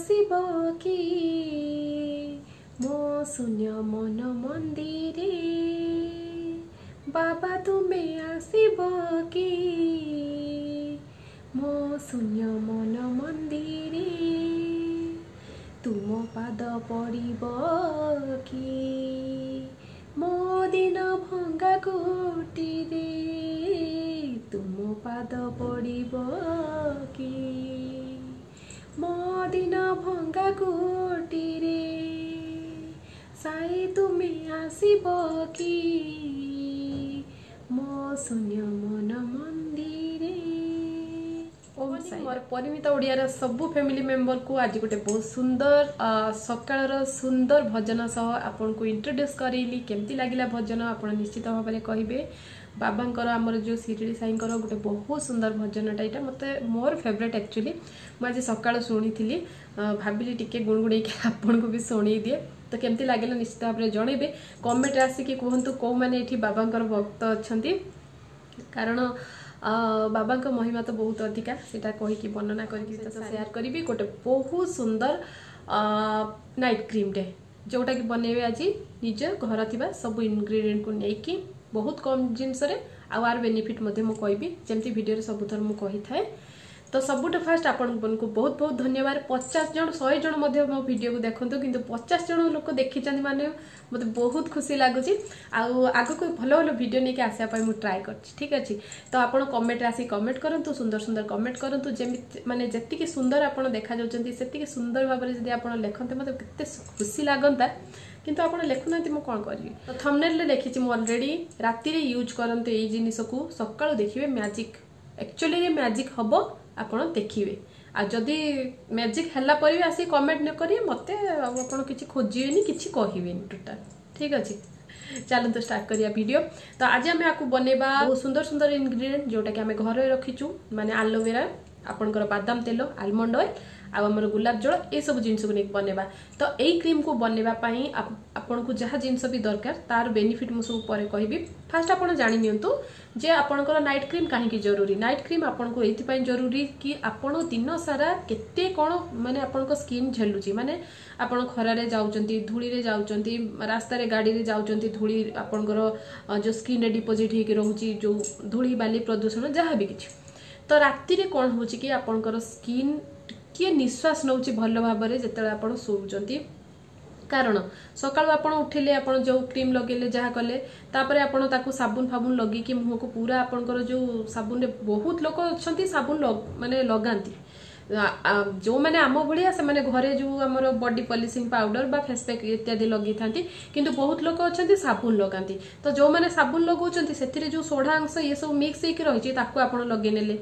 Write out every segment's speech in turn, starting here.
ଆସିବ କି ମୋ ଶୂନ୍ୟ ମନ ମନ୍ଦିରେ? ବାବା ତୁମେ ଆସିବ କି ମୋ ଶୂନ୍ୟ ମନ ମନ୍ଦିରେ? ତୁମ ପାଦ ପଡ଼ିବ କି ମୋ ଦିନ ଭଙ୍ଗା କୁଟିରେ? ତୁମ ପାଦ ପଡ଼ିବ କି ମୋ ଦିନ ଭଙ୍ଗା କୁଟିରେ? ସାଇ ତୁମେ ଆସିବ କି ମୋ ଶୂନ୍ୟ ମନ ମନ୍ଦିରେ? ଓମ୍ ସାଇ। ମୋର ପରିମିତା ଓଡ଼ିଆର ସବୁ ଫ୍ୟାମିଲି ମେମ୍ବରକୁ ଆଜି ଗୋଟେ ବହୁତ ସୁନ୍ଦର ସକାଳର ସୁନ୍ଦର ଭଜନ ସହ ଆପଣଙ୍କୁ ଇଣ୍ଟ୍ରୋଡ୍ୟୁସ୍ କରେଇଲି। କେମିତି ଲାଗିଲା ଭଜନ, ଆପଣ ନିଶ୍ଚିତ ଭାବରେ କହିବେ। ବାବାଙ୍କର, ଆମର ଯେଉଁ ଶିରିଡ଼ି ସାଇଙ୍କର ଗୋଟେ ବହୁତ ସୁନ୍ଦର ଭଜନଟା ଏଇଟା ମୋତେ ମୋର ଫେଭରେଟ୍ ଆକ୍ଚୁଆଲି। ମୁଁ ଆଜି ସକାଳୁ ଶୁଣିଥିଲି, ଭାବିଲି ଟିକେ ଗୁଣଗୁଣେଇକି ଆପଣଙ୍କୁ ବି ଶୁଣେଇ ଦିଏ। ତ କେମିତି ଲାଗିଲା ନିଶ୍ଚିତ ଭାବରେ ଜଣେଇବେ, କମେଣ୍ଟରେ ଆସିକି କୁହନ୍ତୁ କେଉଁମାନେ ଏଠି ବାବାଙ୍କର ଭକ୍ତ ଅଛନ୍ତି। କାରଣ ବାବାଙ୍କ ମହିମା ତ ବହୁତ ଅଧିକା, ସେଇଟା କହିକି ବର୍ଣ୍ଣନା କରିକି ତ ସେୟାର କରିବି। ଗୋଟେ ବହୁତ ସୁନ୍ଦର ନାଇଟ୍ କ୍ରିମ୍ଟେ ଯେଉଁଟାକି ବନେଇବେ ଆଜି ନିଜ ଘର ଥିବା ସବୁ ଇନଗ୍ରିଡ଼ିଏଣ୍ଟକୁ ନେଇକି, ବହୁତ କମ୍ ଜିନିଷରେ। ଆଉ ଆର ବେନିଫିଟ୍ ମଧ୍ୟ ମୁଁ କହିବି, ଯେମିତି ଭିଡ଼ିଓରେ ସବୁଥର ମୁଁ କହିଥାଏ। ତ ସବୁଠୁ ଫାଷ୍ଟ ଆପଣମାନଙ୍କୁ ବହୁତ ବହୁତ ଧନ୍ୟବାଦ। 50 ଜଣ, 100 ଜଣ ମଧ୍ୟ ମୋ ଭିଡ଼ିଓକୁ ଦେଖନ୍ତୁ, କିନ୍ତୁ 50 ଜଣ ଲୋକ ଦେଖିଛନ୍ତି ମାନେ ମୋତେ ବହୁତ ଖୁସି ଲାଗୁଛି। ଆଉ ଆଗକୁ ଭଲ ଭଲ ଭିଡ଼ିଓ ନେଇକି ଆସିବା ପାଇଁ ମୁଁ ଟ୍ରାଏ କରିଛି। ଠିକ୍ ଅଛି, ତ ଆପଣ କମେଣ୍ଟରେ ଆସିକି କମେଣ୍ଟ କରନ୍ତୁ, ସୁନ୍ଦର ସୁନ୍ଦର କମେଣ୍ଟ କରନ୍ତୁ। ଯେମିତି ମାନେ ଯେତିକି ସୁନ୍ଦର ଆପଣ ଦେଖାଯାଉଛନ୍ତି, ସେତିକି ସୁନ୍ଦର ଭାବରେ ଯଦି ଆପଣ ଲେଖନ୍ତେ, ମୋତେ କେତେ ଖୁସି ଲାଗନ୍ତା। କିନ୍ତୁ ଆପଣ ଲେଖୁନାହାନ୍ତି, ମୁଁ କ'ଣ କରିବି? ତ ଥମ୍ବନେଲରେ ଲେଖିଛି ମୁଁ ଅଲରେଡ଼ି, ରାତିରେ ୟୁଜ୍ କରନ୍ତୁ ଏଇ ଜିନିଷକୁ, ସକାଳୁ ଦେଖିବେ ମ୍ୟାଜିକ୍। ଆକ୍ଚୁଆଲି ମ୍ୟାଜିକ୍ ହବ, ଆପଣ ଦେଖିବେ। ଆଉ ଯଦି ମ୍ୟାଜିକ୍ ହେଲା ପରେ ବି ଆସିକି କମେଣ୍ଟ ନ କରିବେ ମୋତେ, ଆଉ ଆପଣ କିଛି ଖୋଜିବେନି, କିଛି କହିବେନି ଟୋଟାଲ। ଠିକ୍ ଅଛି, ଚାଲନ୍ତୁ ଷ୍ଟାର୍ଟ କରିବା ଭିଡ଼ିଓ। ତ ଆଜି ଆମେ ଆକୁ ବନେଇବା ବହୁତ ସୁନ୍ଦର ସୁନ୍ଦର ଇନଗ୍ରିଡ଼ିଏଣ୍ଟ ଯେଉଁଟାକି ଆମେ ଘରେ ରଖିଛୁ, ମାନେ ଆଲୋଭେରା, ଆପଣଙ୍କର ବାଦାମ ତେଲ, ଆଲମଣ୍ଡ ଅଏଲ୍ ଆଉ ଆମର ଗୋଲାପ ଜଳ, ଏସବୁ ଜିନିଷକୁ ନେଇକି ବନେଇବା। ତ ଏଇ କ୍ରିମ୍କୁ ବନେଇବା ପାଇଁ ଆପଣଙ୍କୁ ଯାହା ଜିନିଷ ବି ଦରକାର, ତାର ବେନିଫିଟ୍ ମୁଁ ସବୁ ପରେ କହିବି। ଫାଷ୍ଟ ଆପଣ ଜାଣି ନିଅନ୍ତୁ ଯେ ଆପଣଙ୍କର ନାଇଟ୍ କ୍ରିମ୍ କାହିଁକି ଜରୁରୀ। ନାଇଟ୍ କ୍ରିମ୍ ଆପଣଙ୍କୁ ଏଇଥିପାଇଁ ଜରୁରୀ କି ଆପଣ ଦିନ ସାରା କେତେ କ'ଣ ମାନେ ଆପଣଙ୍କ ସ୍କିନ୍ ଝେଲୁଛି। ମାନେ ଆପଣ ଖରାରେ ଯାଉଛନ୍ତି, ଧୂଳିରେ ଯାଉଛନ୍ତି, ରାସ୍ତାରେ ଗାଡ଼ିରେ ଯାଉଛନ୍ତି, ଧୂଳି ଆପଣଙ୍କର ଯେଉଁ ସ୍କିନ୍ରେ ଡିପୋଜିଟ୍ ହେଇକି ରହୁଛି, ଯେଉଁ ଧୂଳି ବାଲି ପ୍ରଦୂଷଣ ଯାହା ବି କିଛି। ତ ରାତିରେ କ'ଣ ହେଉଛି କି ଆପଣଙ୍କର ସ୍କିନ୍ ଟିକିଏ ନିଶ୍ୱାସ ନେଉଛି ଭଲ ଭାବରେ ଯେତେବେଳେ ଆପଣ ଶୋଉଛନ୍ତି। କାରଣ ସକାଳୁ ଆପଣ ଉଠିଲେ, ଆପଣ ଯେଉଁ କ୍ରିମ୍ ଲଗେଇଲେ, ଯାହା କଲେ, ତାପରେ ଆପଣ ତାକୁ ସାବୁନ ଫାବୁନ ଲଗେଇକି ମୁହଁକୁ ପୁରା ଆପଣଙ୍କର ଯେଉଁ ସାବୁନରେ, ବହୁତ ଲୋକ ଅଛନ୍ତି ସାବୁନ ମାନେ ଲଗାନ୍ତି। ଯେଉଁମାନେ ଆମ ଭଳିଆ, ସେମାନେ ଘରେ ଯେଉଁ ଆମର ବଡି ପଲିସିଂ ପାଉଡର ବା ଫେସ୍ ପ୍ୟାକ୍ ଇତ୍ୟାଦି ଲଗେଇଥାନ୍ତି, କିନ୍ତୁ ବହୁତ ଲୋକ ଅଛନ୍ତି ସାବୁନ ଲଗାନ୍ତି। ତ ଯେଉଁମାନେ ସାବୁନ ଲଗାଉଛନ୍ତି, ସେଥିରେ ଯେଉଁ ସୋଢ଼ା ଅଂଶ ଇଏ ସବୁ ମିକ୍ସ ହେଇକି ରହିଛି, ତାକୁ ଆପଣ ଲଗେଇ ନେଲେ।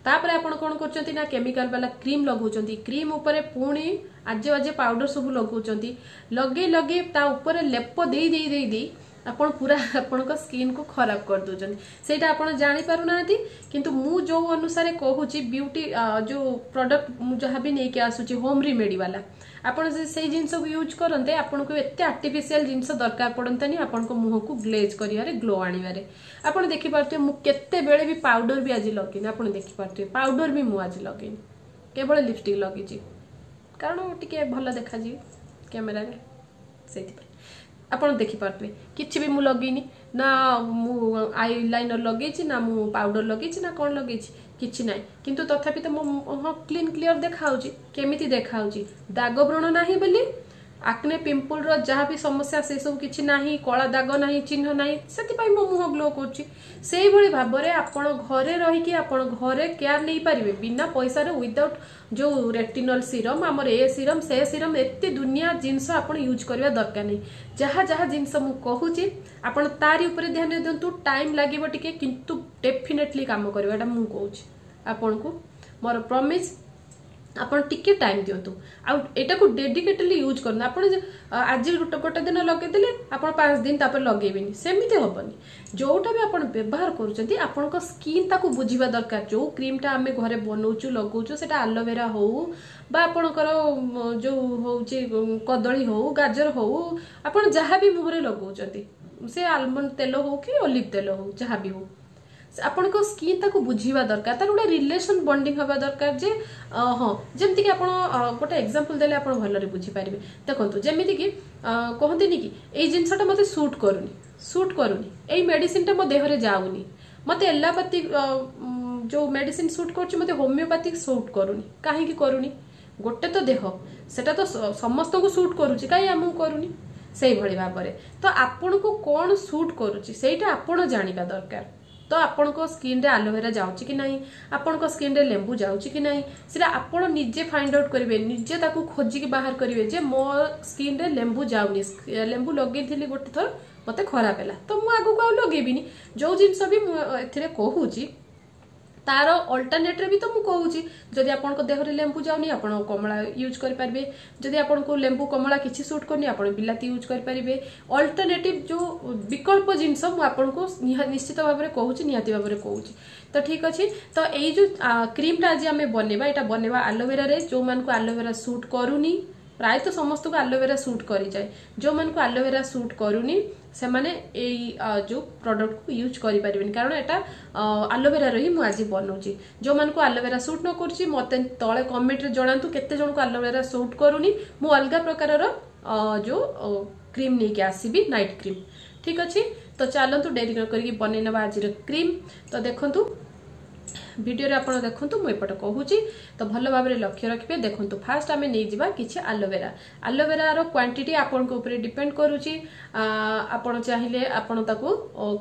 ତାପରେ ଆପଣ କ'ଣ କରୁଛନ୍ତି ନା କେମିକାଲ ବାଲା କ୍ରିମ୍ ଲଗାଉଛନ୍ତି, କ୍ରିମ୍ ଉପରେ ପୁଣି ଆଜେ ବାଜେ ପାଉଡର ସବୁ ଲଗାଉଛନ୍ତି। ଲଗେଇ ଲଗେଇ ତା ଉପରେ ଲେପ ଦେଇ ଦେଇ ଦେଇ ଦେଇ ଆପଣ ପୁରା ଆପଣଙ୍କ ସ୍କିନ୍କୁ ଖରାପ କରିଦେଉଛନ୍ତି। ସେଇଟା ଆପଣ ଜାଣିପାରୁନାହାନ୍ତି। କିନ୍ତୁ ମୁଁ ଯେଉଁ ଅନୁସାରେ କହୁଛି, ବିୟୁଟି ଯେଉଁ ପ୍ରଡକ୍ଟ ମୁଁ ଯାହା ବି ନେଇକି ଆସୁଛି ହୋମ୍ ରିମେଡି ବାଲା, ଆପଣ ସେଇ ଜିନିଷକୁ ୟୁଜ୍ କରନ୍ତେ, ଆପଣଙ୍କୁ ଏତେ ଆର୍ଟିଫିସିଆଲ ଜିନିଷ ଦରକାର ପଡ଼ନ୍ତାନି ଆପଣଙ୍କ ମୁହଁକୁ ଗ୍ଲେଜ୍ କରିବାରେ, ଗ୍ଲୋ ଆଣିବାରେ। ଆପଣ ଦେଖିପାରୁଥିବେ ମୁଁ କେତେବେଳେ ବି ପାଉଡର ବି ଆଜି ଲଗେଇନି। ଆପଣ ଦେଖିପାରୁଥିବେ ପାଉଡର ବି ମୁଁ ଆଜି ଲଗେଇନି, କେବଳ ଲିପଷ୍ଟିକ୍ ଲଗେଇଛି, କାରଣ ଟିକେ ଭଲ ଦେଖାଯିବି କ୍ୟାମେରାରେ, ସେଇଥିପାଇଁ। ଆପଣ ଦେଖିପାରୁଥିବେ କିଛି ବି ମୁଁ ଲଗେଇନି, ନା ମୁଁ I liner ଲଗେଇଛି, ନା ମୁଁ ପାଉଡର ଲଗେଇଛି, ନା କ'ଣ ଲଗେଇଛି, କିଛି ନାହିଁ। କିନ୍ତୁ ତଥାପି ତ ମୋ ମୁହଁ କ୍ଲିନ୍ କ୍ଲିୟର ଦେଖାହେଉଛି। କେମିତି ଦେଖାହେଉଛି? ଦାଗ ବ୍ରଣ ନାହିଁ ବୋଲି, ଆକ୍ନେ ପିମ୍ପଲର ଯାହା ବି ସମସ୍ୟା ସେସବୁ କିଛି ନାହିଁ, କଳା ଦାଗ ନାହିଁ, ଚିହ୍ନ ନାହିଁ, ସେଥିପାଇଁ ମୋ ମୁହଁ ଗ୍ଲୋ କରୁଛି। ସେଇଭଳି ଭାବରେ ଆପଣ ଘରେ ରହିକି ଆପଣ ଘରେ କେୟାର ନେଇପାରିବେ ବିନା ପଇସାରେ, ୱିଦାଉଟ୍ ଯେଉଁ ରେଟିନଲ ସିରମ୍, ଆମର ଏ ସିରମ୍ ସେ ସିରମ୍, ଏତେ ଦୁନିଆ ଜିନିଷ ଆପଣ ୟୁଜ୍ କରିବା ଦରକାର ନାହିଁ। ଯାହା ଯାହା ଜିନିଷ ମୁଁ କହୁଛି, ଆପଣ ତାରି ଉପରେ ଧ୍ୟାନ ଦିଅନ୍ତୁ। ଟାଇମ୍ ଲାଗିବ ଟିକେ, କିନ୍ତୁ ଡେଫିନେଟଲି କାମ କରିବ, ଏଇଟା ମୁଁ କହୁଛି ଆପଣଙ୍କୁ, ମୋର ପ୍ରମିସ୍। ଆପଣ ଟିକେ ଟାଇମ୍ ଦିଅନ୍ତୁ ଆଉ ଏଇଟାକୁ ଡେଡିକେଟେଡଲି ୟୁଜ୍ କରନ୍ତୁ। ଆପଣ ଆଜି ଗୋଟେ ଦିନ ଲଗେଇଦେଲେ, ଆପଣ 5 ଦିନ ତାପରେ ଲଗେଇବେନି, ସେମିତି ହବନି। ଯୋଉଟା ବି ଆପଣ ବ୍ୟବହାର କରୁଛନ୍ତି, ଆପଣଙ୍କ ସ୍କିନ୍ ତାକୁ ବୁଝିବା ଦରକାର। ଯୋଉ କ୍ରିମ୍ଟା ଆମେ ଘରେ ବନଉଛୁ, ଲଗାଉଛୁ, ସେଟା ଆଲୋଭେରା ହଉ ବା ଆପଣଙ୍କର ଯୋଉ ହଉଛି କଦଳୀ ହଉ, ଗାଜର ହଉ, ଆପଣ ଯାହା ବି ମୁହଁରେ ଲଗାଉଛନ୍ତି, ସେ ଆଲମଣ୍ଡ ତେଲ ହଉ କି ଅଲିଭ ତେଲ ହଉ, ଯାହା ବି ହଉ, ଆପଣଙ୍କ ସ୍କିନ୍ ତାକୁ ବୁଝିବା ଦରକାର, ତାର ଗୋଟେ ରିଲେସନ ବଣ୍ଡିଂ ହେବା ଦରକାର ଯେ ହଁ, ଯେମିତିକି ଆପଣ ଗୋଟେ ଏକ୍ସାମ୍ପଲ ଦେଲେ ଆପଣ ଭଲରେ ବୁଝିପାରିବେ। ଦେଖନ୍ତୁ, ଯେମିତିକି କହନ୍ତିନି କି ଏଇ ଜିନିଷଟା ମୋତେ ସୁଟ୍ କରୁନି, ଏଇ ମେଡିସିନଟା ମୋ ଦେହରେ ଯାଉନି, ମୋତେ ଏଲୋପାଥି ଯୋଉ ମେଡିସିନ ସୁଟ୍ କରୁଛି, ମୋତେ ହୋମିଓପାଥିକ ସୁଟ୍ କରୁନି। କାହିଁକି କରୁନି? ଗୋଟେ ତ ଦେହ, ସେଟା ତ ସମସ୍ତଙ୍କୁ ସୁଟ୍ କରୁଛି, କାହିଁ ଆମକୁ କରୁନି? ସେଇଭଳି ଭାବରେ ତ ଆପଣଙ୍କୁ କ'ଣ ସୁଟ୍ କରୁଛି, ସେଇଟା ଆପଣ ଜାଣିବା ଦରକାର। ତ ଆପଣଙ୍କ ସ୍କିନ୍ରେ ଆଲୋଭେରା ଯାଉଛି କି ନାହିଁ, ଆପଣଙ୍କ ସ୍କିନ୍ରେ ଲେମ୍ବୁ ଯାଉଛି କି ନାହିଁ, ସେଟା ଆପଣ ନିଜେ ଫାଇଣ୍ଡ ଆଉଟ୍ କରିବେ, ନିଜେ ତାକୁ ଖୋଜିକି ବାହାର କରିବେ ଯେ ମୋ ସ୍କିନ୍ରେ ଲେମ୍ବୁ ଯାଉନି, ଲେମ୍ବୁ ଲଗେଇଥିଲି ଗୋଟେ ଥର, ମୋତେ ଖରାପ ହେଲା, ତ ମୁଁ ଆଗକୁ ଆଉ ଲଗେଇବିନି। ଯୋଉ ଜିନିଷ ବି ମୁଁ ଏଥିରେ କହୁଛି, ତାର ଅଲ୍ଟରନେଟ୍ରେ ବି ତ ମୁଁ କହୁଛି। ଯଦି ଆପଣଙ୍କ ଦେହରେ ଲେମ୍ବୁ ଯାଉନି, ଆପଣ କମଳା ୟୁଜ୍ କରିପାରିବେ। ଯଦି ଆପଣଙ୍କୁ ଲେମ୍ବୁ କମଳା କିଛି ସୁଟ୍ କରୁନି, ଆପଣ ବିଲାତି ୟୁଜ୍ କରିପାରିବେ। ଅଲ୍ଟରନେଟିଭ୍ ଯୋଉ ବିକଳ୍ପ ଜିନିଷ ମୁଁ ଆପଣଙ୍କୁ ନିଶ୍ଚିତ ଭାବରେ କହୁଛି, ନିହାତି ଭାବରେ କହୁଛି। ତ ଠିକ୍ ଅଛି, ତ ଏଇ ଯୋଉ କ୍ରିମଟା ଆଜି ଆମେ ବନେଇବା, ଏଇଟା ବନେଇବା ଆଲୋଭେରାରେ। ଯୋଉମାନଙ୍କୁ ଆଲୋଭେରା ସୁଟ୍ କରୁନି, ପ୍ରାୟତଃ ସମସ୍ତଙ୍କୁ ଆଲୋଭେରା ସୁଟ୍ କରିଯାଏ, ଯୋଉମାନଙ୍କୁ ଆଲୋଭେରା ସୁଟ୍ କରୁନି ସେମାନେ ଏଇ ଯୋଉ ପ୍ରଡକ୍ଟକୁ ୟୁଜ୍ କରିପାରିବେନି, କାରଣ ଏଟା ଆଲୋଭେରାର ହିଁ ମୁଁ ଆଜି ବନଉଛି। ଯୋଉମାନଙ୍କୁ ଆଲୋଭେରା ସୁଟ୍ ନ କରୁଛି, ମୋତେ ତଳେ କମେଣ୍ଟରେ ଜଣାନ୍ତୁ କେତେ ଜଣଙ୍କୁ ଆଲୋଭେରା ସୁଟ୍ କରୁନି। ମୁଁ ଅଲଗା ପ୍ରକାରର ଯୋଉ କ୍ରିମ୍ ନେଇକି ଆସିବି, ନାଇଟ୍ କ୍ରିମ୍। ଠିକ୍ ଅଛି, ତ ଚାଲନ୍ତୁ ଡେରି ନ କରିକି ବନେଇ ନେବା ଆଜିର କ୍ରିମ୍। ତ ଦେଖନ୍ତୁ, ଭିଡ଼ିଓରେ ଆପଣ ଦେଖନ୍ତୁ, ମୁଁ ଏପଟେ କହୁଛି, ତ ଭଲ ଭାବରେ ଲକ୍ଷ୍ୟ ରଖିବେ। ଦେଖନ୍ତୁ, ଫାଷ୍ଟ ଆମେ ନେଇଯିବା କିଛି ଆଲୋଭେରା। ଆଲୋଭେରାର କ୍ୱାଣ୍ଟିଟି ଆପଣଙ୍କ ଉପରେ ଡିପେଣ୍ଡ କରୁଛି। ଆପଣ ଚାହିଁଲେ ଆପଣ ତାକୁ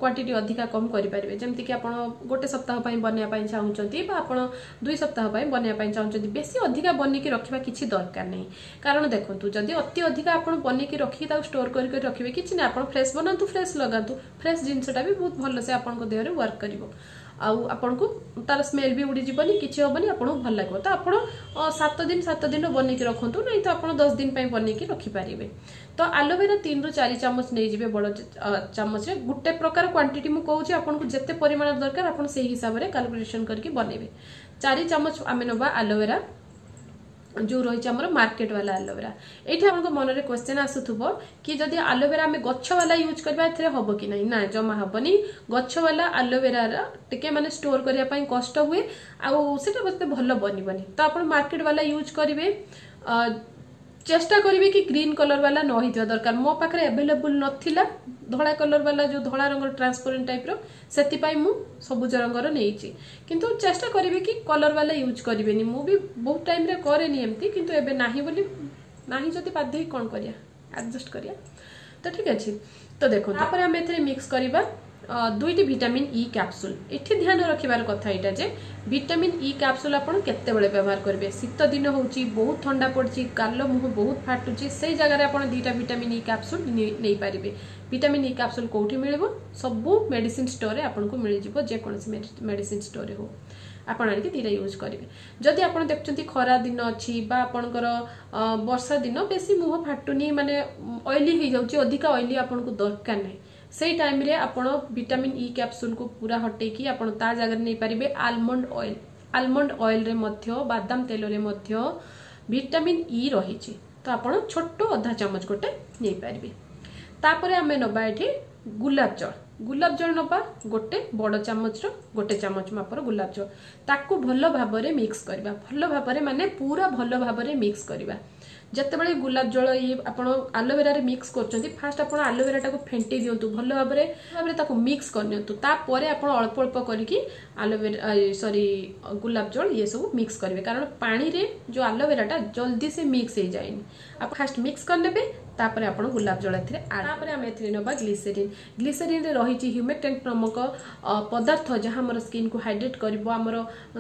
କ୍ୱାଣ୍ଟିଟି ଅଧିକା କମ୍ କରିପାରିବେ। ଯେମିତିକି ଆପଣ ଗୋଟେ ସପ୍ତାହ ପାଇଁ ବନେଇବା ପାଇଁ ଚାହୁଁଛନ୍ତି ବା ଆପଣ 2 ସପ୍ତାହ ପାଇଁ ବନେଇବା ପାଇଁ ଚାହୁଁଛନ୍ତି, ବେଶୀ ଅଧିକା ବନେଇକି ରଖିବା କିଛି ଦରକାର ନାହିଁ। କାରଣ ଦେଖନ୍ତୁ, ଯଦି ଅତି ଅଧିକା ଆପଣ ବନେଇକି ରଖିକି ତାକୁ ଷ୍ଟୋର କରି କରି ରଖିବେ, କିଛି ନାହିଁ, ଆପଣ ଫ୍ରେଶ୍ ବନାନ୍ତୁ, ଫ୍ରେଶ୍ ଲଗାନ୍ତୁ। ଫ୍ରେଶ୍ ଜିନିଷଟା ବି ବହୁତ ଭଲସେ ଆପଣଙ୍କ ଦେହରେ ୱାର୍କ କରିବ ଆଉ ଆପଣଙ୍କୁ ତାର ସ୍ମେଲ୍ ବି ଉଡ଼ିଯିବନି, କିଛି ହବନି, ଆପଣଙ୍କୁ ଭଲ ଲାଗିବ। ତ ଆପଣ 7 ଦିନ 7 ଦିନ ବନେଇକି ରଖନ୍ତୁ, ନାହିଁ ତ ଆପଣ 10 ଦିନ ପାଇଁ ବନେଇକି ରଖିପାରିବେ। ତ ଆଲୋଭେରା 3ରୁ 4 ଚାମଚ ନେଇଯିବେ ବଡ଼ ଚାମଚରେ। ଗୋଟେ ପ୍ରକାର କ୍ୱାଣ୍ଟିଟି ମୁଁ କହୁଛି, ଆପଣଙ୍କୁ ଯେତେ ପରିମାଣ ଦରକାର ଆପଣ ସେଇ ହିସାବରେ କାଲକୁଲେସନ କରିକି ବନେଇବେ। 4 ଚାମଚ ଆମେ ନେବା ଆଲୋଭେରା, ଯୋଉ ରହିଛି ଆମର ମାର୍କେଟ ବାଲା ଆଲୋଭେରା। ଏଇଠି ଆପଣଙ୍କ ମନରେ କ୍ୱେଶ୍ଚନ ଆସୁଥିବ କି ଯଦି ଆଲୋଭେରା ଆମେ ଗଛ ବାଲା ୟୁଜ୍ କରିବା, ଏଥିରେ ହବ କି ନାହିଁ? ନା, ଜମା ହବନି। ଗଛ ବାଲା ଆଲୋଭେରାର ଟିକେ ମାନେ ଷ୍ଟୋର କରିବା ପାଇଁ କଷ୍ଟ ହୁଏ ଆଉ ସେଟା ଏତେ ଭଲ ବନିବନି। ତ ଆପଣ ମାର୍କେଟ ବାଲା ୟୁଜ୍ କରିବେ, ଚେଷ୍ଟା କରିବେ କି ଗ୍ରୀନ୍ କଲର ବାଲା ନ ହେଇଥିବା ଦରକାର। ମୋ ପାଖରେ ଆଭେଲେବୁଲ ନଥିଲା ଧଳା କଲର ବାଲା, ଯୋଉ ଧଳା ରଙ୍ଗର ଟ୍ରାନ୍ସପରେଣ୍ଟ ଟାଇପର, ସେଥିପାଇଁ ମୁଁ ସବୁଜ ରଙ୍ଗର ନେଇଛି। କିନ୍ତୁ ଚେଷ୍ଟା କରିବେ କି କଲର ବାଲା ୟୁଜ୍ କରିବେନି। ମୁଁ ବି ବହୁତ ଟାଇମରେ କରେନି ଏମିତି, କିନ୍ତୁ ଏବେ ନାହିଁ ବୋଲି, ନାହିଁ ଯଦି ବାଧ୍ୟ ହେଇ କ'ଣ କରିବା, ଆଡଜଷ୍ଟ କରିବା। ତ ଠିକ ଅଛି। ତ ଦେଖନ୍ତୁ, ତାପରେ ଆମେ ଏଥିରେ ମିକ୍ସ କରିବା ଦୁଇଟି ଭିଟାମିନ୍ ଇ କ୍ୟାପସୁଲ। ଏଠି ଧ୍ୟାନ ରଖିବାର କଥା ଏଇଟା ଯେ ଭିଟାମିନ୍ ଇ କ୍ୟାପସୁଲ ଆପଣ କେତେବେଳେ ବ୍ୟବହାର କରିବେ? ଶୀତ ଦିନ ହେଉଛି, ବହୁତ ଥଣ୍ଡା ପଡ଼ିଛି, ଗାଲ ମୁହଁ ବହୁତ ଫାଟୁଛି, ସେଇ ଜାଗାରେ ଆପଣ ଦୁଇଟା ଭିଟାମିନ୍ ଇ କ୍ୟାପସୁଲ ନେଇପାରିବେ। ଭିଟାମିନ୍ ଇ କ୍ୟାପସୁଲ କୋଉଠି ମିଳିବ? ସବୁ ମେଡିସିନ ଷ୍ଟୋରରେ ଆପଣଙ୍କୁ ମିଳିଯିବ। ଯେକୌଣସି ମେଡିସିନ ଷ୍ଟୋରରେ ହଉ, ଆପଣ ଆଣିକି ଦୁଇଟା ୟୁଜ୍ କରିବେ। ଯଦି ଆପଣ ଦେଖୁଛନ୍ତି ଖରା ଦିନ ଅଛି ବା ଆପଣଙ୍କର ବର୍ଷା ଦିନ, ବେଶୀ ମୁହଁ ଫାଟୁନି, ମାନେ ଅଏଲି ହେଇଯାଉଛି, ଅଧିକା ଅଏଲି ଆପଣଙ୍କୁ ଦରକାର ନାହିଁ, ସେଇ ଟାଇମରେ ଆପଣ ଭିଟାମିନ୍ ଇ କ୍ୟାପସୁଲକୁ ପୁରା ହଟେଇକି ଆପଣ ତା ଜାଗାରେ ନେଇପାରିବେ ଆଲମଣ୍ଡ ଅଏଲ। ଆଲମଣ୍ଡ ଅଏଲରେ ମଧ୍ୟ, ବାଦାମ ତେଲରେ ମଧ୍ୟ ଭିଟାମିନ୍ ଇ ରହିଛି। ତ ଆପଣ ଛୋଟ ଅଧା ଚାମଚ ଗୋଟେ ନେଇପାରିବେ। ତାପରେ ଆମେ ନେବା ଏଠି ଗୁଲାପ ଜଳ। ଗୁଲାପ ଜଳ ନେବା ଗୋଟେ ବଡ଼ ଚାମଚର ଗୋଟେ ଚାମଚ ମାପର ଗୁଲାପ ଜଳ। ତାକୁ ଭଲ ଭାବରେ ମିକ୍ସ କରିବା। ଭଲ ଭାବରେ ମାନେ ପୁରା ଭଲ ଭାବରେ ମିକ୍ସ କରିବା। ଯେତେବେଳେ ଗୁଲାପ ଜଳ ଇଏ ଆପଣ ଆଲୋଭେରାରେ ମିକ୍ସ କରୁଛନ୍ତି, ଫାଷ୍ଟ ଆପଣ ଆଲୋଭେରାଟାକୁ ଫେଣ୍ଟି ଦିଅନ୍ତୁ, ଭଲ ଭାବରେ ତାକୁ ମିକ୍ସ କରିନିଅନ୍ତୁ। ତାପରେ ଆପଣ ଅଳ୍ପ ଅଳ୍ପ କରିକି ଆଲୋଭେରା, ସରି, ଗୁଲାପ ଜଳ ଇଏ ସବୁ ମିକ୍ସ କରିବେ। କାରଣ ପାଣିରେ ଯୋଉ ଆଲୋଭେରାଟା ଜଲ୍ଦି ସେ ମିକ୍ସ ହେଇଯାଏନି। ଆପଣ ଫାଷ୍ଟ ମିକ୍ସ କରିନେବେ, ତାପରେ ଆପଣ ଗୁଲାପ ଜଳ ଏଥିରେ। ତାପରେ ଆମେ ଏଥିରେ ନେବା ଗ୍ଲିସେରିନ୍। ଗ୍ଲିସେରିନ୍ରେ ରହିଛି ହ୍ୟୁମେକ୍ଟେଣ୍ଟ ନାମକ ପଦାର୍ଥ, ଯାହା ଆମର ସ୍କିନ୍କୁ ହାଇଡ୍ରେଟ୍ କରିବ, ଆମର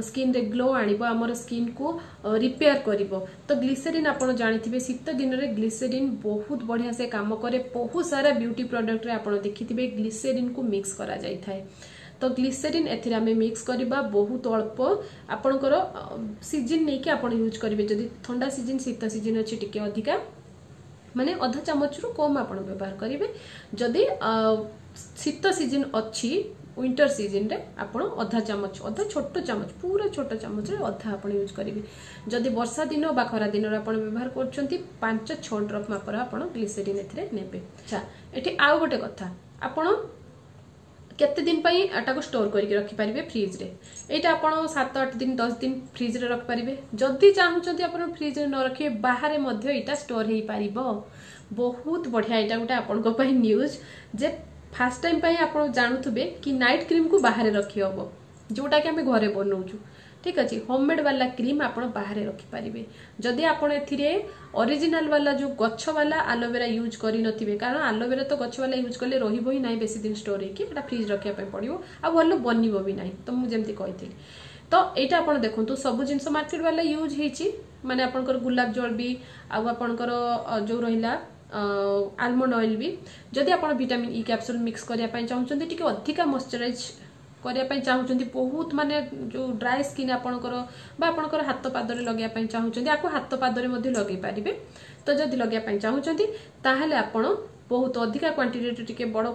ସ୍କିନ୍ରେ ଗ୍ଲୋ ଆଣିବ, ଆମର ସ୍କିନ୍କୁ ରିପେୟାର କରିବ। ତ ଗ୍ଲିସେରିନ୍ ଆପଣ ଜାଣିଥିବେ, ଶୀତ ଦିନରେ ଗ୍ଲିସେରିନ୍ ବହୁତ ବଢ଼ିଆ ସେ କାମ କରେ। ବହୁତ ସାରା ବ୍ୟୁଟି ପ୍ରଡକ୍ଟରେ ଆପଣ ଦେଖିଥିବେ ଗ୍ଲିସେରିନ୍କୁ ମିକ୍ସ କରାଯାଇଥାଏ। ତ ଗ୍ଲିସେରିନ୍ ଏଥିରେ ଆମେ ମିକ୍ସ କରିବା ବହୁତ ଅଳ୍ପ। ଆପଣଙ୍କର ସିଜିନ୍ ନେଇକି ଆପଣ ୟୁଜ୍ କରିବେ। ଯଦି ଥଣ୍ଡା ସିଜିନ୍, ଶୀତ ସିଜିନ୍ ଅଛି, ଟିକେ ଅଧିକା, ମାନେ ଅଧା ଚାମଚରୁ କମ୍ ଆପଣ ବ୍ୟବହାର କରିବେ। ଯଦି ଶୀତ ସିଜିନ୍ ଅଛି, ୱିଣ୍ଟର ସିଜିନରେ ଆପଣ ଅଧା ଚାମଚ, ଅଧା ଛୋଟ ଚାମଚ, ପୁରା ଛୋଟ ଚାମଚରେ ଅଧା ଆପଣ ୟୁଜ୍ କରିବେ। ଯଦି ବର୍ଷା ଦିନ ବା ଖରା ଦିନରେ ଆପଣ ବ୍ୟବହାର କରୁଛନ୍ତି, 5-6 ଡ୍ରପ୍ ମାପର ଆପଣ ଗ୍ଲିସେରିନ୍ ଏଥିରେ ନେବେ। ଆଚ୍ଛା, ଏଠି ଆଉ ଗୋଟେ କଥା, ଆପଣ କେତେ ଦିନ ପାଇଁ ଏଟାକୁ ଷ୍ଟୋର କରିକି ରଖିପାରିବେ ଫ୍ରିଜରେ। ଏଇଟା ଆପଣ 7-8 ଦିନ, 10 ଦିନ ଫ୍ରିଜରେ ରଖିପାରିବେ। ଯଦି ଚାହୁଁଛନ୍ତି ଆପଣ ଫ୍ରିଜରେ ନ ରଖିବେ, ବାହାରେ ମଧ୍ୟ ଏଇଟା ଷ୍ଟୋର ହେଇପାରିବ। ବହୁତ ବଢ଼ିଆ, ଏଇଟା ଗୋଟେ ଆପଣଙ୍କ ପାଇଁ ନ୍ୟୁଜ୍ ଯେ ଫାର୍ଷ୍ଟ ଟାଇମ୍ ପାଇଁ ଆପଣ ଜାଣୁଥିବେ କି ନାଇଟ୍ କ୍ରିମ୍କୁ ବାହାରେ ରଖି ହବ, ଯୋଉଟାକି ଆମେ ଘରେ ବନଉଛୁ। ଠିକ୍ ଅଛି, ହୋମମେଡ୍ ବାଲା କ୍ରିମ୍ ଆପଣ ବାହାରେ ରଖିପାରିବେ, ଯଦି ଆପଣ ଏଥିରେ ଅରିଜିନାଲ ବାଲା ଯୋଉ ଗଛ ବାଲା ଆଲୋଭେରା ୟୁଜ୍ କରିନଥିବେ। କାରଣ ଆଲୋଭେରା ତ ଗଛ ବାଲା ୟୁଜ୍ କଲେ ରହିବ ହିଁ ନାହିଁ ବେଶୀ ଦିନ ଷ୍ଟୋର ହେଇକି, ଏଟା ଫ୍ରିଜ୍ ରଖିବା ପାଇଁ ପଡ଼ିବ ଆଉ ଭଲ ବନିବ ବି ନାହିଁ। ତ ମୁଁ ଯେମିତି କହିଥିଲି, ତ ଏଇଟା ଆପଣ ଦେଖନ୍ତୁ, ସବୁ ଜିନିଷ ମାର୍କେଟ ବାଲା ୟୁଜ୍ ହେଇଛି, ମାନେ ଆପଣଙ୍କର ଗୁଲାପ ଜଳ ବି ଆଉ ଆପଣଙ୍କର ଯୋଉ ରହିଲା ଆଲମଣ୍ଡ ଅଏଲ୍ ବି। ଯଦି ଆପଣ ଭିଟାମିନ୍ ଇ କ୍ୟାପସୁଲ୍ ମିକ୍ସ କରିବା ପାଇଁ ଚାହୁଁଛନ୍ତି, ଟିକେ ଅଧିକା ମଶ୍ଚରାଇଜ୍ କରିବା ପାଇଁ ଚାହୁଁଛନ୍ତି, ବହୁତ ମାନେ ଯୋଉ ଡ୍ରାଏ ସ୍କିନ୍ ଆପଣଙ୍କର, ବା ଆପଣଙ୍କର ହାତ ପାଦରେ ଲଗେଇବା ପାଇଁ ଚାହୁଁଛନ୍ତି, ଆକୁ ହାତ ପାଦରେ ମଧ୍ୟ ଲଗେଇ ପାରିବେ। ତ ଯଦି ଲଗେଇବା ପାଇଁ ଚାହୁଁଛନ୍ତି, ତାହେଲେ ଆପଣ ବହୁତ ଅଧିକା କ୍ୱାଣ୍ଟିଟିରେ, ଟିକେ ବଡ଼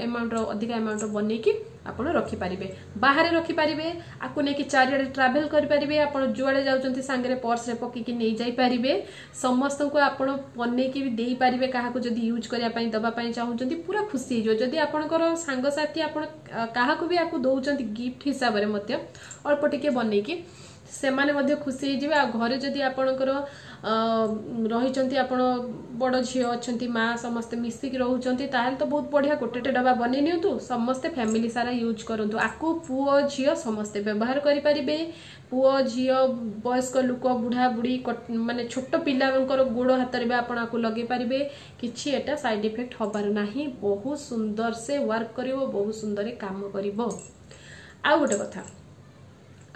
ଆମାଉଣ୍ଟର, ଅଧିକା ଆମାଉଣ୍ଟର ବନେଇକି ଆପଣ ରଖିପାରିବେ, ବାହାରେ ରଖିପାରିବେ। ଆକୁ ନେଇକି ଚାରିଆଡ଼େ ଟ୍ରାଭେଲ୍ କରିପାରିବେ। ଆପଣ ଯୁଆଡ଼େ ଯାଉଛନ୍ତି, ସାଙ୍ଗରେ ପର୍ସରେ ପକେଇକି ନେଇଯାଇପାରିବେ। ସମସ୍ତଙ୍କୁ ଆପଣ ବନେଇକି ବି ଦେଇପାରିବେ। କାହାକୁ ଯଦି ୟୁଜ୍ କରିବା ପାଇଁ ଦେବା ପାଇଁ ଚାହୁଁଛନ୍ତି, ପୁରା ଖୁସି ହେଇଯିବ। ଯଦି ଆପଣଙ୍କର ସାଙ୍ଗସାଥି, ଆପଣ କାହାକୁ ବି ଆକୁ ଦଉଛନ୍ତି ଗିଫ୍ଟ ହିସାବରେ ମଧ୍ୟ ଅଳ୍ପ ଟିକେ ବନେଇକି, ସେମାନେ ମଧ୍ୟ ଖୁସି ହେଇଯିବେ। ଆଉ ଘରେ ଯଦି ଆପଣଙ୍କର ରହିଛନ୍ତି, ଆପଣ ବଡ଼ ଝିଅ ଅଛନ୍ତି, ମା, ସମସ୍ତେ ମିଶିକି ରହୁଛନ୍ତି, ତାହେଲେ ତ ବହୁତ ବଢ଼ିଆ। ଗୋଟେ ଡବା ବନେଇ ନିଅନ୍ତୁ, ସମସ୍ତେ ଫ୍ୟାମିଲି ସାରା ୟୁଜ୍ କରନ୍ତୁ ଆକୁ। ପୁଅ ଝିଅ ସମସ୍ତେ ବ୍ୟବହାର କରିପାରିବେ। ପୁଅ ଝିଅ, ବୟସ୍କ ଲୋକ, ବୁଢ଼ା ବୁଢ଼ୀ, ମାନେ ଛୋଟ ପିଲାଙ୍କର ଗୋଡ଼ ହାତରେ ବି ଆପଣ ଆକୁ ଲଗେଇ ପାରିବେ। କିଛି ଏଟା ସାଇଡ୍ ଇଫେକ୍ଟ ହବାର ନାହିଁ। ବହୁତ ସୁନ୍ଦର ସେ ୱାର୍କ କରିବ, ବହୁତ ସୁନ୍ଦର କାମ କରିବ। ଆଉ ଗୋଟେ କଥା,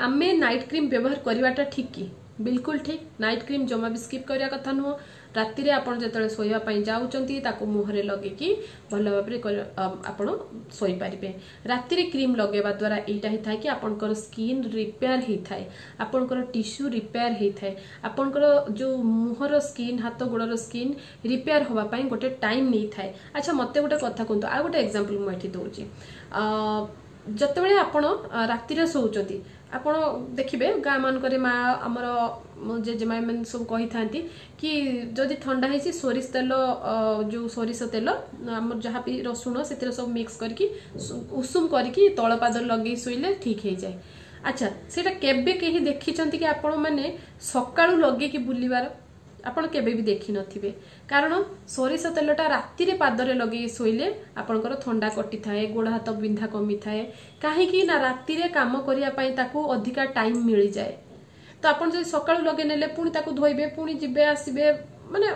ଆମେ ନାଇଟ୍ କ୍ରିମ୍ ବ୍ୟବହାର କରିବାଟା ଠିକ୍ କି? ବିଲକୁଲ ଠିକ୍। ନାଇଟ୍ କ୍ରିମ୍ ଜମା ବି ସ୍କିପ୍ କରିବା କଥା ନୁହଁ। ରାତିରେ ଆପଣ ଯେତେବେଳେ ଶୋଇବା ପାଇଁ ଯାଉଛନ୍ତି, ତାକୁ ମୁହଁରେ ଲଗେଇକି ଭଲ ଭାବରେ ଆପଣ ଶୋଇପାରିବେ। ରାତିରେ କ୍ରିମ୍ ଲଗେଇବା ଦ୍ୱାରା ଏଇଟା ହେଇଥାଏ କି ଆପଣଙ୍କର ସ୍କିନ୍ ରିପେୟାର ହେଇଥାଏ, ଆପଣଙ୍କର ଟିସ୍ୟୁ ରିପେୟାର ହେଇଥାଏ। ଆପଣଙ୍କର ଯୋଉ ମୁହଁର ସ୍କିନ୍, ହାତ ଗୋଡ଼ର ସ୍କିନ୍ ରିପେୟାର ହେବା ପାଇଁ ଗୋଟେ ଟାଇମ୍ ନେଇଥାଏ। ଆଚ୍ଛା, ମୋତେ ଗୋଟେ କଥା କୁହନ୍ତୁ, ଆଉ ଗୋଟେ ଏକ୍ଜାମ୍ପଲ୍ ମୁଁ ଏଠି ଦେଉଛି। ଯେତେବେଳେ ଆପଣ ରାତିରେ ଶୋଉଛନ୍ତି, ଆପଣ ଦେଖିବେ ଗାଁ ମାନଙ୍କରେ ମା, ଆମର ଜେଜେମା ଏମାନେ ସବୁ କହିଥାନ୍ତି କି ଯଦି ଥଣ୍ଡା ହେଇଛି, ସୋରିଷ ତେଲ, ଯୋଉ ସୋରିଷ ତେଲ ଆମର ଯାହା ବି ରସୁଣ ସେଥିରେ ସବୁ ମିକ୍ସ କରିକି ଉଷୁମ କରିକି ତଳ ପାଦରେ ଲଗେଇ ଶୋଇଲେ ଠିକ୍ ହେଇଯାଏ। ଆଚ୍ଛା, ସେଇଟା କେବେ କେହି ଦେଖିଛନ୍ତି କି ଆପଣ ମାନେ ସକାଳୁ ଲଗେଇକି ବୁଲିବାର? ଆପଣ କେବେ ବି ଦେଖିନଥିବେ। କାରଣ ସୋରିଷ ତେଲଟା ରାତିରେ ପାଦରେ ଲଗେଇ ଶୋଇଲେ ଆପଣଙ୍କର ଥଣ୍ଡା କଟିଥାଏ, ଗୋଡ଼ ହାତ ବିନ୍ଧା କମିଥାଏ। କାହିଁକି ନା ରାତିରେ କାମ କରିବା ପାଇଁ ତାକୁ ଅଧିକା ଟାଇମ୍ ମିଳିଯାଏ। ତ ଆପଣ ଯଦି ସକାଳୁ ଲଗେଇ ନେଲେ, ପୁଣି ତାକୁ ଧୋଇବେ, ପୁଣି ଯିବେ ଆସିବେ, ମାନେ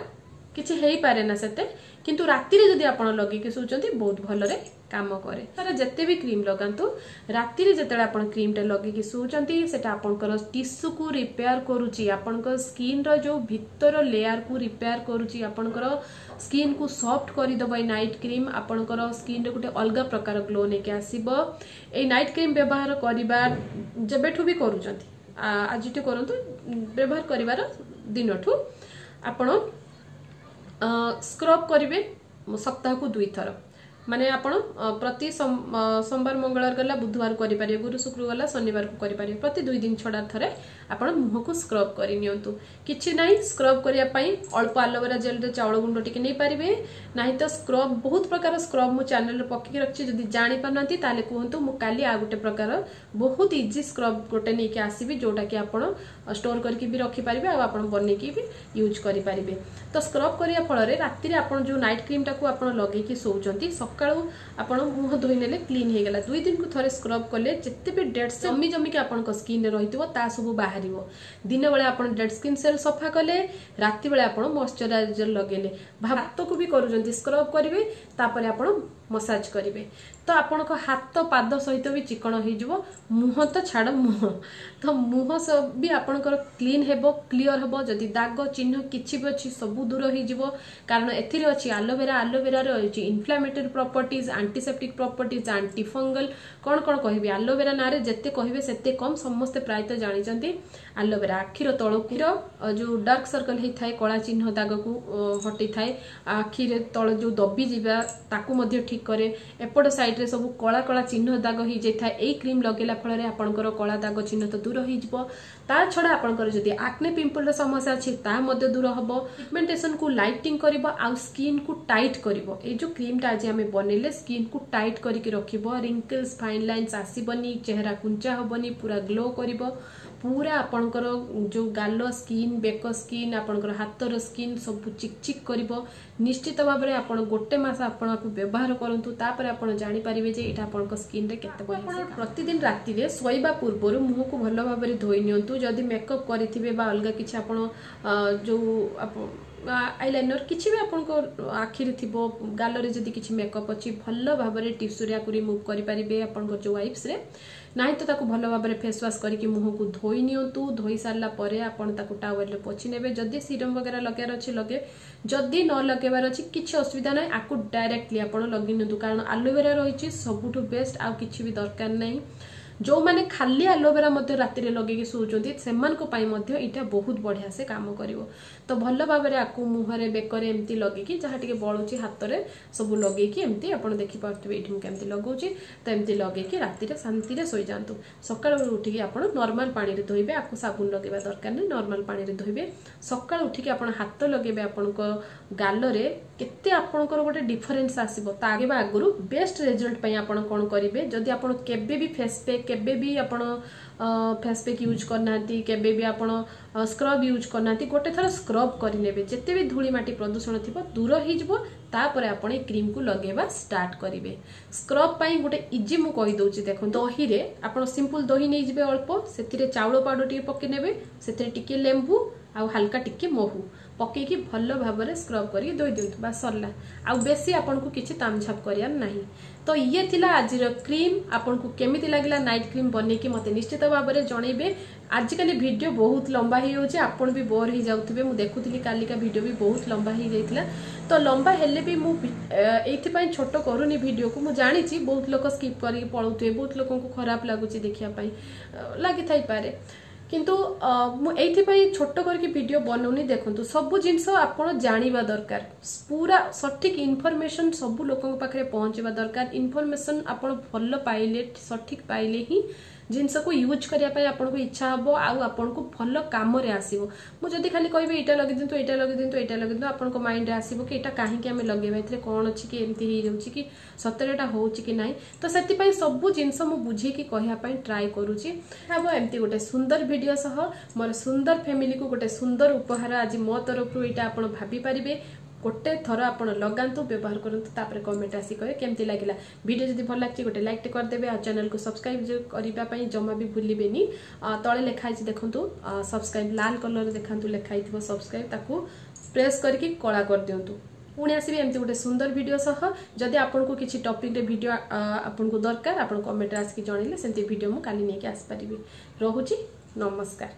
କିଛି ହେଇପାରେ ନା ସେତେ। କିନ୍ତୁ ରାତିରେ ଯଦି ଆପଣ ଲଗେଇକି ଶୋଉଛନ୍ତି, ବହୁତ ଭଲରେ କାମ କରେ। ତାର ଯେତେ ବି କ୍ରିମ୍ ଲଗାନ୍ତୁ, ରାତିରେ ଯେତେବେଳେ ଆପଣ କ୍ରିମ୍ଟା ଲଗେଇକି ଶୋଉଛନ୍ତି, ସେଟା ଆପଣଙ୍କର ଟିସୁକୁ ରିପେୟାର କରୁଛି, ଆପଣଙ୍କ ସ୍କିନ୍ର ଯୋଉ ଭିତର ଲେୟାରକୁ ରିପେୟାର କରୁଛି, ଆପଣଙ୍କର ସ୍କିନ୍କୁ ସଫ୍ଟ କରିଦେବ। ଏଇ ନାଇଟ୍ କ୍ରିମ୍ ଆପଣଙ୍କର ସ୍କିନ୍ରେ ଗୋଟେ ଅଲଗା ପ୍ରକାର ଗ୍ଲୋ ନେଇକି ଆସିବ। ଏଇ ନାଇଟ୍ କ୍ରିମ୍ ବ୍ୟବହାର କରିବା ଯେବେଠୁ ବି କରୁଛନ୍ତି, ଆଜିଠୁ କରନ୍ତୁ, ବ୍ୟବହାର କରିବାର ଦିନଠୁ ଆପଣ ସ୍କ୍ରବ୍ କରିବେ ସପ୍ତାହକୁ 2 ଥର। ମାନେ ଆପଣ ପ୍ରତି ସୋମବାର ମଙ୍ଗଳବାର ଗଲା, ବୁଧବାର କରିପାରିବେ, ଗୁରୁ ଶୁକ୍ର ଗଲା, ଶନିବାରକୁ କରିପାରିବେ। ପ୍ରତି 2 ଦିନ ଛଡ଼ା ଥରେ ଆପଣ ମୁହଁକୁ ସ୍କ୍ରବ୍ କରି ନିଅନ୍ତୁ। କିଛି ନାହିଁ, ସ୍କ୍ରବ୍ କରିବା ପାଇଁ ଅଳ୍ପ ଆଲୋଭେରା ଜେଲ୍ରେ ଚାଉଳ ଗୁଣ୍ଡ ଟିକେ ନେଇପାରିବେ। ନାହିଁ ତ ସ୍କ୍ରବ୍, ବହୁତ ପ୍ରକାର ସ୍କ୍ରବ୍ ମୁଁ ଚ୍ୟାନେଲରେ ପକେଇକି ରଖିଛି। ଯଦି ଜାଣିପାରୁନାହାନ୍ତି, ତାହେଲେ କୁହନ୍ତୁ, ମୁଁ କାଲି ଆଉ ଗୋଟେ ପ୍ରକାର ବହୁତ ଇଜି ସ୍କ୍ରବ୍ ଗୋଟେ ନେଇକି ଆସିବି, ଯୋଉଟାକି ଆପଣ ଷ୍ଟୋର କରିକି ବି ରଖିପାରିବେ ଆଉ ଆପଣ ବନେଇକି ବି ୟୁଜ୍ କରିପାରିବେ। ତ ସ୍କ୍ରବ୍ କରିବା ଫଳରେ ରାତିରେ ଆପଣ ଯୋଉ ନାଇଟ୍ କ୍ରିମ୍ଟାକୁ ଆପଣ ଲଗେଇକି ଶୋଉଛନ୍ତି, ସକାଳୁ ଆପଣ ମୁହଁ ଧୋଇ ନେଲେ କ୍ଲିନ୍ ହେଇଗଲା। 2 ଦିନକୁ ଥରେ ସ୍କ୍ରବ୍ କଲେ ଯେତେ ବି ଡେଡ୍ ଜମି ଜମିକି ଆପଣଙ୍କ ସ୍କିନ୍ରେ ରହିଥିବ, ତା ସବୁ ବାହାରିବ। ଦିନବେଳେ ଆପଣ ଡେଡ୍ ସ୍କିନ୍ ସେଲ୍ ସଫା କଲେ, ରାତି ବେଳେ ଆପଣ ମଶ୍ଚରାଇଜର ଲଗେଇଲେ, ହାତକୁ ବି କରୁଛନ୍ତି, ସ୍କ୍ରବ୍ କରିବେ, ତାପରେ ଆପଣ ମସାଜ କରିବେ, ତ ଆପଣଙ୍କ ହାତ ପାଦ ସହିତ ବି ଚିକଣ ହେଇଯିବ। ମୁହଁ ତ ଛାଡ଼, ମୁହଁ ତ ମୁହଁ ବି ଆପଣଙ୍କର କ୍ଲିନ୍ ହେବ, କ୍ଲିଅର ହେବ। ଯଦି ଦାଗ ଚିହ୍ନ କିଛି ବି ଅଛି, ସବୁ ଦୂର ହେଇଯିବ। କାରଣ ଏଥିରେ ଅଛି ଆଲୋଭେରା। ଆଲୋଭେରାରେ ଅଛି inflammatory properties, antiseptic properties, anti fungal, କ'ଣ କ'ଣ କହିବି। ଆଲୋଭେରା ନାଁରେ ଯେତେ କହିବେ ସେତେ କମ୍। ସମସ୍ତେ ପ୍ରାୟତଃ ଜାଣିଛନ୍ତି, ଆଲୋଭେରା ଆଖିର ତଳକୁର ଯୋଉ ଡାର୍କ ସର୍କଲ ହେଇଥାଏ, କଳା ଚିହ୍ନ ଦାଗକୁ ହଟେଇଥାଏ, ଆଖିରେ ତଳ ଯୋଉ ଦବି ଯିବା ତାକୁ ମଧ୍ୟ ଠିକ ଠିକ୍ କରେ। ଏପଟ ସାଇଡ଼୍ରେ ସବୁ କଳା କଳା ଚିହ୍ନ ଦାଗ ହେଇଯାଇଥାଏ, ଏଇ କ୍ରିମ୍ ଲଗେଇଲା ଫଳରେ ଆପଣଙ୍କର କଳା ଦାଗ ଚିହ୍ନ ତ ଦୂର ହେଇଯିବ। ତା ଛଡ଼ା ଆପଣଙ୍କର ଯଦି ଆକ୍ନେ ପିମ୍ପଲର ସମସ୍ୟା ଅଛି, ତାହା ମଧ୍ୟ ଦୂର ହେବ। ପିଗମେଣ୍ଟେସନକୁ ଲାଇଟିଂ କରିବ ଆଉ ସ୍କିନ୍କୁ ଟାଇଟ୍ କରିବ। ଏଇ ଯେଉଁ କ୍ରିମ୍ଟା ଆଜି ଆମେ ବନେଇଲେ, ସ୍କିନ୍କୁ ଟାଇଟ୍ କରିକି ରଖିବ, ରିଙ୍କଲ୍ସ ଫାଇନ୍ ଲାଇନ୍ସ ଆସିବନି, ଚେହେରା କୁଞ୍ଚା ହେବନି, ପୁରା ଗ୍ଲୋ କରିବ। ପୁରା ଆପଣଙ୍କର ଯେଉଁ ଗାଲ ସ୍କିନ୍, ବେକ ସ୍କିନ୍, ଆପଣଙ୍କର ହାତର ସ୍କିନ୍ ସବୁ ଚିକ୍ ଚିକ୍ କରିବ। ନିଶ୍ଚିତ ଭାବରେ ଆପଣ ଗୋଟେ ମାସ ଆପଣ ଆକୁ ବ୍ୟବହାର କରନ୍ତୁ, ତାପରେ ଆପଣ ଜାଣିପାରିବେ ଯେ ଏଇଟା ଆପଣଙ୍କ ସ୍କିନ୍ରେ କେତେ ବଢ଼ିଆ। ଆପଣ ପ୍ରତିଦିନ ରାତିରେ ଶୋଇବା ପୂର୍ବରୁ ମୁହଁକୁ ଭଲ ଭାବରେ ଧୋଇ ନିଅନ୍ତୁ। ଯଦି ମେକଅପ୍ କରିଥିବେ ବା ଅଲଗା କିଛି ଆପଣ ଯେଉଁ ଆଇଲାଇନର କିଛି ବି ଆପଣଙ୍କ ଆଖିରେ ଥିବ, ଗାଲରେ ଯଦି କିଛି ମେକଅପ୍ ଅଛି, ଭଲ ଭାବରେ ଟିସୁରେ ଆକୁ ରିମୁଭ୍ କରିପାରିବେ ଆପଣଙ୍କର ଯେଉଁ ୱାଇପ୍ସରେ। ନାହିଁ ତ ତାକୁ ଭଲ ଭାବରେ ଫେସ୍ ୱାଶ୍ କରିକି ମୁହଁକୁ ଧୋଇ ନିଅନ୍ତୁ। ଧୋଇ ସାରିଲା ପରେ ଆପଣ ତାକୁ ଟାୱେଲରେ ପୋଛି ନେବେ। ଯଦି ସିରମ୍ ବଗେରା ଲଗେଇବାର ଅଛି ଲଗେଇବେ, ଯଦି ନ ଲଗେଇବାର ଅଛି କିଛି ଅସୁବିଧା ନାହିଁ, ଆକୁ ଡାଇରେକ୍ଟଲି ଆପଣ ଲଗେଇ ନିଅନ୍ତୁ। କାରଣ ଆଲୋଭେରା ରହିଛି ସବୁଠୁ ବେଷ୍ଟ, ଆଉ କିଛି ବି ଦରକାର ନାହିଁ। ଯେଉଁମାନେ ଖାଲି ଆଲୋଭେରା ମଧ୍ୟ ରାତିରେ ଲଗେଇକି ଶୋଉଛନ୍ତି, ସେମାନଙ୍କ ପାଇଁ ମଧ୍ୟ ଏଇଟା ବହୁତ ବଢ଼ିଆ ସେ କାମ କରିବ। ତ ଭଲ ଭାବରେ ଆକୁ ମୁହଁରେ, ବେକରେ ଏମିତି ଲଗେଇକି, ଯାହା ଟିକେ ବଳୁଛି ହାତରେ ସବୁ ଲଗେଇକି, ଏମିତି ଆପଣ ଦେଖିପାରୁଥିବେ ଏଇଠି ମୁଁ କେମିତି ଲଗାଉଛି। ତ ଏମିତି ଲଗେଇକି ରାତିରେ ଶାନ୍ତିରେ ଶୋଇଯାଆନ୍ତୁ। ସକାଳୁ ଉଠିକି ଆପଣ ନର୍ମାଲ ପାଣିରେ ଧୋଇବେ, ଆକୁ ସାବୁନ ଲଗେଇବା ଦରକାର ନାହିଁ, ନର୍ମାଲ ପାଣିରେ ଧୋଇବେ। ସକାଳୁ ଉଠିକି ଆପଣ ହାତ ଲଗେଇବେ ଆପଣଙ୍କ ଗାଲରେ, କେତେ ଆପଣଙ୍କର ଗୋଟେ ଡିଫରେନ୍ସ ଆସିବ। ତା ଆଗେ ଆଗରୁ ବେଷ୍ଟ ରେଜଲ୍ଟ ପାଇଁ ଆପଣ କ'ଣ କରିବେ? ଯଦି ଆପଣ କେବେ ବି ଫେସ୍ ପ୍ୟାକ୍, କେବେ ବି ଆପଣ ଫେସ୍ ପ୍ୟାକ୍ ୟୁଜ୍ କରିନାହାନ୍ତି, କେବେ ବି ଆପଣ ସ୍କ୍ରବ୍ ୟୁଜ୍ କରିନାହାନ୍ତି, ଗୋଟେ ଥର ସ୍କ୍ରବ୍ କରିନେବେ। ଯେତେ ବି ଧୂଳି ମାଟି ପ୍ରଦୂଷଣ ଥିବ ଦୂର ହେଇଯିବ। ତାପରେ ଆପଣ ଏ କ୍ରିମ୍କୁ ଲଗେଇବା ଷ୍ଟାର୍ଟ କରିବେ। ସ୍କ୍ରବ୍ ପାଇଁ ଗୋଟେ ଇଜି ମୁଁ କହିଦେଉଛି, ଦେଖନ୍ତୁ। ଦହିରେ ଆପଣ ସିମ୍ପଲ୍ ଦହି ନେଇଯିବେ ଅଳ୍ପ, ସେଥିରେ ଚାଉଳ ପାଉଡ଼ର ଟିକେ ପକେଇ ନେବେ, ସେଥିରେ ଟିକେ ଲେମ୍ବୁ ଆଉ ହାଲକା ଟିକେ ମହୁ ପକେଇକି ଭଲ ଭାବରେ ସ୍କ୍ରବ୍ କରିକି ଧୋଇ ଦିଅନ୍ତୁ, ବା ସରିଲା। ଆଉ ବେଶୀ ଆପଣଙ୍କୁ କିଛି ତାମଝାପ କରିବାର ନାହିଁ। ତ ଇଏ ଥିଲା ଆଜିର କ୍ରିମ୍। ଆପଣଙ୍କୁ କେମିତି ଲାଗିଲା ନାଇଟ୍ କ୍ରିମ୍ ବନେଇକି, ମୋତେ ନିଶ୍ଚିତ ଭାବରେ ଜଣେଇବେ। ଆଜିକାଲି ଭିଡ଼ିଓ ବହୁତ ଲମ୍ବା ହେଇଯାଉଛି, ଆପଣ ବି ବୋର୍ ହେଇଯାଉଥିବେ। ମୁଁ ଦେଖୁଥିଲି କାଲିକା ଭିଡ଼ିଓ ବି ବହୁତ ଲମ୍ବା ହେଇଯାଇଥିଲା। ତ ଲମ୍ବା ହେଲେ ବି ମୁଁ ଏଇଥିପାଇଁ ଛୋଟ କରୁନି ଭିଡ଼ିଓକୁ, ମୁଁ ଜାଣିଛି ବହୁତ ଲୋକ ସ୍କିପ୍ କରିକି ପଳାଉଥିବେ, ବହୁତ ଲୋକଙ୍କୁ ଖରାପ ଲାଗୁଛି ଦେଖିବା ପାଇଁ ଲାଗିଥାଇପାରେ। କିନ୍ତୁ ମୁଁ ଏଇଥିପାଇଁ ଛୋଟ କରିକି ଭିଡ଼ିଓ ବନଉନି। ଦେଖନ୍ତୁ, ସବୁ ଜିନିଷ ଆପଣ ଜାଣିବା ଦରକାର, ପୁରା ସଠିକ୍ ଇନଫର୍ମେସନ୍ ସବୁ ଲୋକଙ୍କ ପାଖରେ ପହଞ୍ଚିବା ଦରକାର। ଇନଫର୍ମେସନ୍ ଆପଣ ଭଲ ପାଇଲେ, ସଠିକ୍ ପାଇଲେ ହିଁ ଜିନିଷକୁ ୟୁଜ୍ କରିବା ପାଇଁ ଆପଣଙ୍କୁ ଇଚ୍ଛା ହେବ ଆଉ ଆପଣଙ୍କୁ ଭଲ କାମରେ ଆସିବ। ମୁଁ ଯଦି ଖାଲି କହିବି ଏଇଟା ଲଗେଇ ଦିଅନ୍ତୁ, ଏଇଟା ଲଗେଇ ଦିଅନ୍ତୁ, ଏଇଟା ଲଗେଇ ଦିଅନ୍ତୁ, ଆପଣଙ୍କ ମାଇଣ୍ଡରେ ଆସିବ କି ଏଇଟା କାହିଁକି ଆମେ ଲଗେଇବା, ଏଥିରେ କ'ଣ ଅଛି କି, ଏମିତି ହେଇଯାଉଛି କି, ସତରେ ଏଇଟା ହେଉଛି କି ନାହିଁ। ତ ସେଥିପାଇଁ ସବୁ ଜିନିଷ ମୁଁ ବୁଝେଇକି କହିବା ପାଇଁ ଟ୍ରାଏ କରୁଛି। ହେବ ଏମିତି ଗୋଟେ ସୁନ୍ଦର ଭିଡ଼ିଓ ସହ ମୋର ସୁନ୍ଦର ଫ୍ୟାମିଲିକୁ ଗୋଟେ ସୁନ୍ଦର ଉପହାର ଆଜି ମୋ ତରଫରୁ ଏଇଟା ଆପଣ ଭାବିପାରିବେ। ଗୋଟେ ଥର ଆପଣ ଲଗାନ୍ତୁ, ବ୍ୟବହାର କରନ୍ତୁ, ତାପରେ କମେଣ୍ଟ ଆସି କହିବେ କେମିତି ଲାଗିଲା। ଭିଡ଼ିଓ ଯଦି ଭଲ ଲାଗିଛି, ଗୋଟେ ଲାଇକ୍ଟେ କରିଦେବେ ଆଉ ଚ୍ୟାନେଲକୁ ସବସ୍କ୍ରାଇବ୍ କରିବା ପାଇଁ ଜମା ବି ଭୁଲିବେନି। ତଳେ ଲେଖା ହେଇଛି ଦେଖନ୍ତୁ ସବସ୍କ୍ରାଇବ୍, ଲାଲ କଲର୍ ଦେଖନ୍ତୁ ଲେଖା ହେଇଥିବ ସବସ୍କ୍ରାଇବ୍, ତାକୁ ପ୍ରେସ୍ କରିକି କଳା କରିଦିଅନ୍ତୁ। ପୁଣି ଆସିବି ଏମିତି ଗୋଟେ ସୁନ୍ଦର ଭିଡ଼ିଓ ସହ। ଯଦି ଆପଣଙ୍କୁ କିଛି ଟପିକ୍ରେ ଭିଡ଼ିଓ ଆପଣଙ୍କୁ ଦରକାର, ଆପଣ କମେଣ୍ଟରେ ଆସିକି ଜଣେଇଲେ ସେମିତି ଭିଡ଼ିଓ ମୁଁ କାଲି ନେଇକି ଆସିପାରିବି। ରହୁଛି, ନମସ୍କାର।